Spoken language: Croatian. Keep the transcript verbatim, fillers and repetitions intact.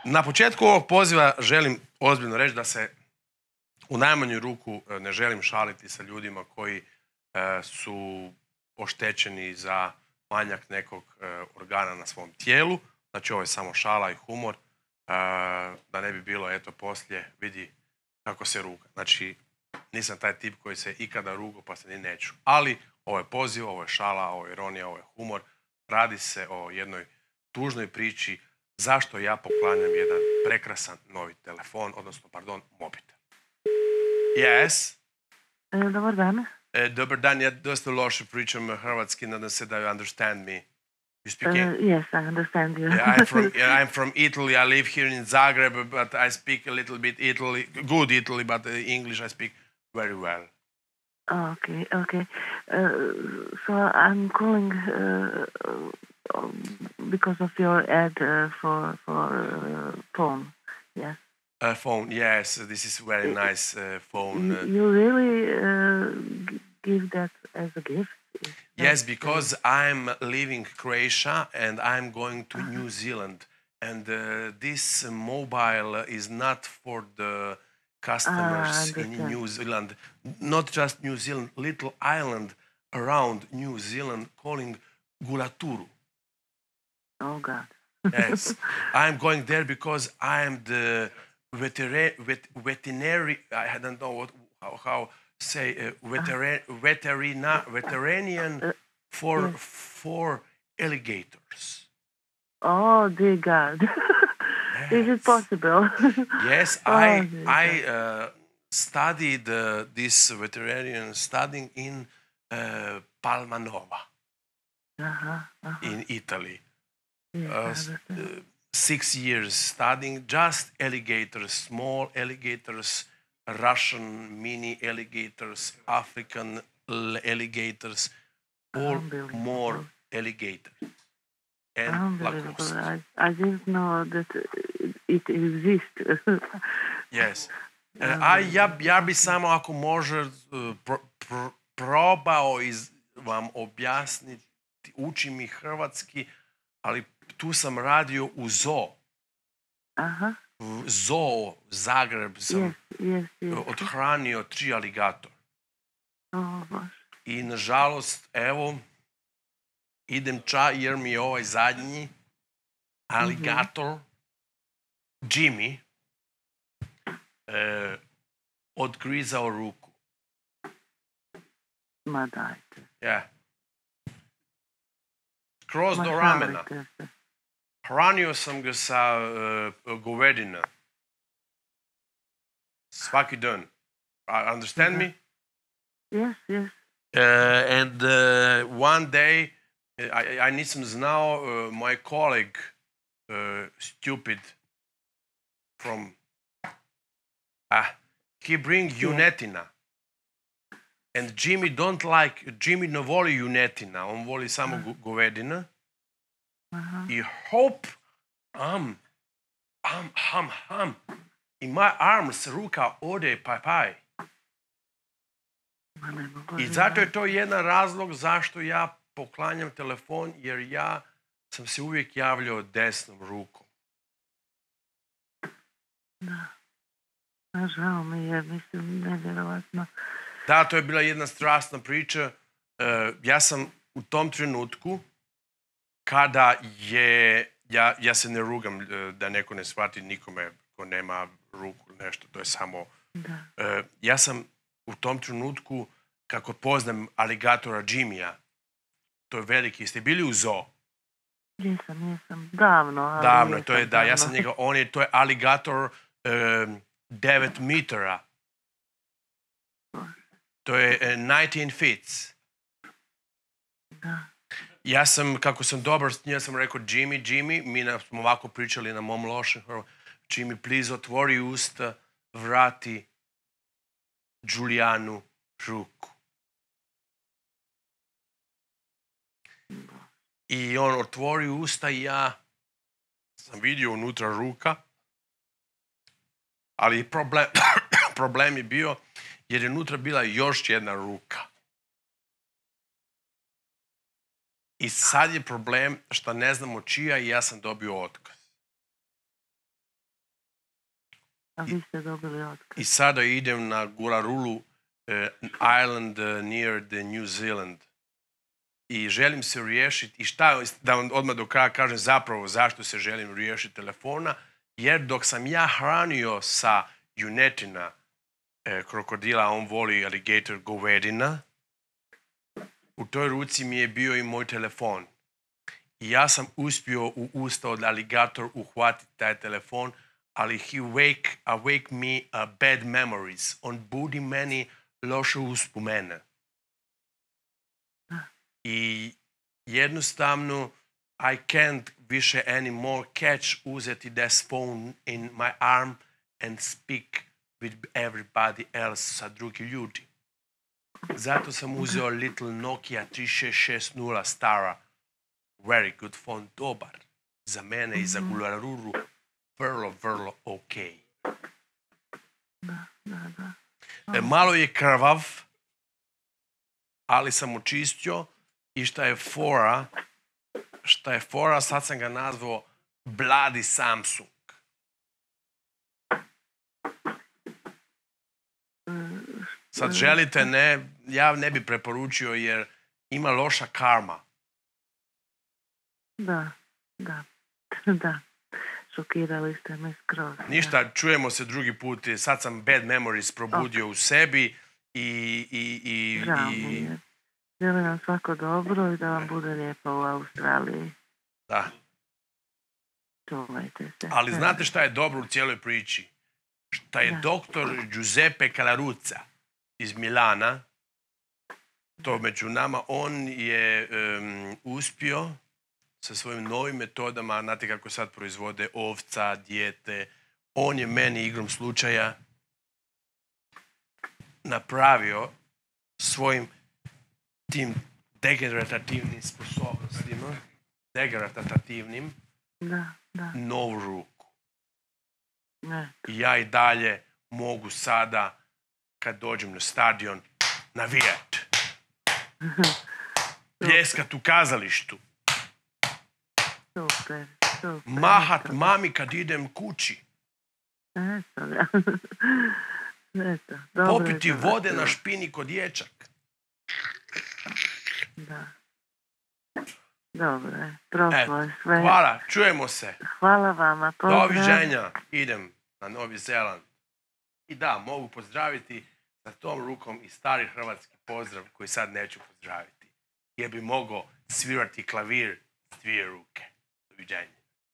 Na početku ovog poziva želim ozbiljno reći da se u najmanju ruku ne želim šaliti sa ljudima koji su oštećeni za manjak nekog organa na svom tijelu. Znači ovo je samo šala i humor, da ne bi bilo eto poslije vidi kako se ruga. Znači nisam taj tip koji se ikada rugo pa se ni neću. Ali ovo je poziv, ovo je šala, ovo je ironija, ovo je humor. Radi se o jednoj tužnoj priči zašto ja poklanjam jedan prekrasan novi telefon, odnosno, pardon, mobitel. Yes? Dobar dan. Dobar dan, ja dosta loše pričam hrvatski, nadam se da you understand me. You speak Uh, English? yes, I understand you. Yeah, I'm from yeah, I'm from Italy. I live here in Zagreb, but I speak a little bit Italy, good Italy, but uh, English I speak very well. Okay, okay. Uh, so I'm calling uh, uh, because of your ad uh, for for uh, phone. Yes. A phone, yes. This is very nice uh, phone. You, you really uh, g- give that as a gift? Yes, because I'm leaving Croatia and I'm going to New Zealand, and uh, this mobile is not for the customers Ah, in New Zealand, not just New Zealand, little island around New Zealand calling Gulaturu. Oh God. Yes, I'm going there because I'm the vetera- vet- veterinary. I don't know what how, how say uh, vetera- veterina veterinarian Uh, for yes. for alligators. Oh dear God. Is it Yes. possible? Yes, Oh, I dear I God. uh, studied uh, this veterinarian studying in uh, Palmanova Uh-huh, uh-huh. in Italy. Yes, I Uh, s- understand. uh, six years studying just alligators, small alligators, Russian mini alligators, African l- alligators, all Unbelievable. more alligators and Unbelievable. lacoste. I, I didn't know that it exists. Yes. Uh, a ja, ja bi samo ako može uh, pro, pro, probao iz, vam objasniti, uči mi hrvatski, ali tu sam radio u zoo. Aha. U zoo Zagreb sam Yes, yes, yes. odhranio tri aligatora. Oh, Bože. I nažalost, evo, idem ča jer mi je ovaj zadnji aligator, Jimmy, e, odgrizao ruku. Ma dajte. Ja. Kroz Ma do ramena. šalite se. Hranio sam ga sa uh, govedina. Svaki dan. Uh, understand me? Yes, yes. Uh, and uh, one day, I, I nisam znao, uh, my colleague, uh, stupid, from, ah, he bring junetina. And Jimmy don't like, Jimmy ne voli junetina, on voli samo go- govedina. Aha. I hop, am, am, ham, ham. I my arms, ruka ode, paj, paj. Ma ne mogu I zato je to jedan razlog zašto ja poklanjam telefon, jer ja sam se uvijek javljao desnom rukom. Da. A žao mi je, mislim, nevjerovatno. Da, to je bila jedna strasna priča. E, ja sam u tom trenutku, kada je, ja, ja se ne rugam e, da neko ne shvati nikome ko nema ruku, nešto, to je samo... Da. E, ja sam u tom trenutku, kako poznam aligatora Jimmya, to je veliki, ste bili u zoo? Jesam, jesam. Davno, ali Davno, jesam, to je, da, ja davno. sam njega, on je, to je aligator um, devet metara. To je uh, devetnaest feet. Da. Ja sam, kako sam dobar s njim, ja sam rekao, Jimmy, Jimmy, mi na, smo ovako pričali na mom lošem, Jimmy, please, otvori usta, vrati Julijanu ruku. I on otvori usta i ja sam vidio unutra ruka, ali problem, problem je bio jer je unutra bila još jedna ruka. I sad je problem što ne znamo čija i ja sam dobio otkaz. A vi ste dobili otkaz. I sada idem na Guarulhos uh, Island uh, near the New Zealand. I želim se riješiti, i šta, da vam odmah do kraja kažem zapravo zašto se želim riješiti telefona, jer dok sam ja hranio sa junetina eh, krokodila, on voli alligator govedina, u toj ruci mi je bio i moj telefon. I ja sam uspio u usta od aligator uhvatiti taj telefon, ali he wake, awake me uh, bad memories. On budi meni loše uspomene. I jednostavno I can't više anymore catch, uzeti this phone in my arm and speak with everybody else, sa drugi ljudi. Zato sam uzeo Little Nokia tri šest šest nula stara. Very good phone, dobar. Za mene i za Guarulhos vrlo, vrlo ok. Da, da, da. E, malo je krvav, ali sam očistio i šta je fora, šta je fora, sad sam ga nazvao Bloody Samsung. Sad želite, ne, ja ne bi preporučio jer ima loša karma. Da, da, da. Šokirali ste me skroz. Ništa, čujemo se drugi put. Sad sam bad memories probudio okay. u sebi i... i, i, Žao i... mi je. Želim vam svako dobro i da vam bude lijepo u Australiji. Da. Čuvajte se. Ali znate šta je dobro u cijeloj priči? Šta je da. doktor Giuseppe Calaruza iz Milana, to među nama, on je um, uspio sa svojim novim metodama, znate kako sad proizvode ovca, dijete, on je meni igrom slučaja napravio svojim tim degenerativnim sposobnostima, degenerativnim, da, da. novu ruku. Ne. I ja i dalje mogu sada, kad dođem na stadion, navijat. Pljeskat u kazalištu. Super, super. Mahat mami kad idem kući. Eto, da. Eto, dobro. Popiti vode na špini kod dječak. Da. Dobro, prošlo je sve. Hvala, čujemo se. Hvala vama, pozdrav. Doviđenja, idem na Novi Zeland. I da, mogu pozdraviti sa tom rukom i stari hrvatski pozdrav koji sad neću pozdraviti. Jer bi mogao svirati klavir s dvije ruke. Doviđenja.